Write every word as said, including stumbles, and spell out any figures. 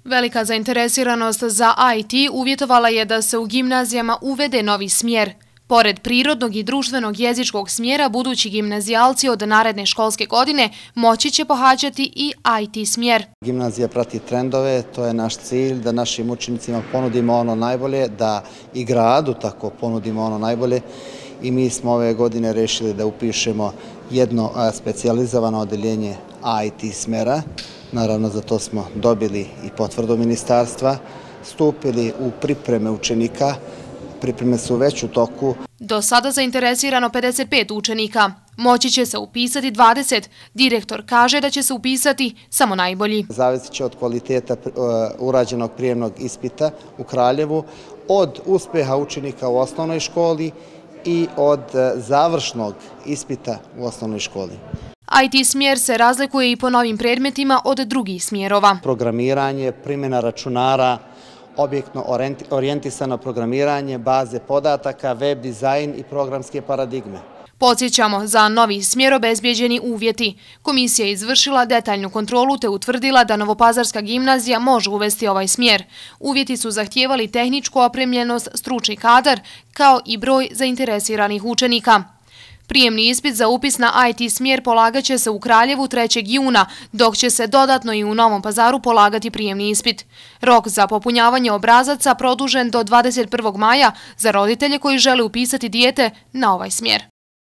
Velika zainteresiranost za I T uvjetovala je da se u gimnazijama uvede novi smjer. Pored prirodnog i društvenog jezičkog smjera, budući gimnazijalci od naredne školske godine moći će pohađati i I T smjer. Gimnazija prati trendove, to je naš cilj, da našim učenicima ponudimo ono najbolje, da i gradu tako ponudimo ono najbolje. I mi smo ove godine rešili da upišemo jedno specijalizovano odeljenje I T smjera. Naravno, za to smo dobili i potvrdu ministarstva, stupili u pripreme učenika. Pripreme su već u toku. Do sada zainteresirano pedeset pet učenika. Moći će se upisati dvadeset. Direktor kaže da će se upisati samo najbolji. Zavisit će od kvaliteta urađenog prijemnog ispita u Kraljevu, od uspeha učenika u osnovnoj školi i od završnog ispita u osnovnoj školi. I T smjer se razlikuje i po novim predmetima od drugih smjerova. Programiranje, primjena računara, objektno orijentisano programiranje, baze podataka, web dizajn i programske paradigme. Podsjećamo, za novi smjer obezbijeđeni uvjeti. Komisija je izvršila detaljnu kontrolu te utvrdila da Novopazarska gimnazija može uvesti ovaj smjer. Uvjeti su zahtijevali tehničku opremljenost, stručni kadar, kao i broj zainteresiranih učenika. Prijemni ispit za upis na I T smjer polagat će se u Kraljevu trećeg juna, dok će se dodatno i u Novom Pazaru polagati prijemni ispit. Rok za popunjavanje obrazaca produžen do dvadeset prvog maja za roditelje koji žele upisati dijete na ovaj smjer.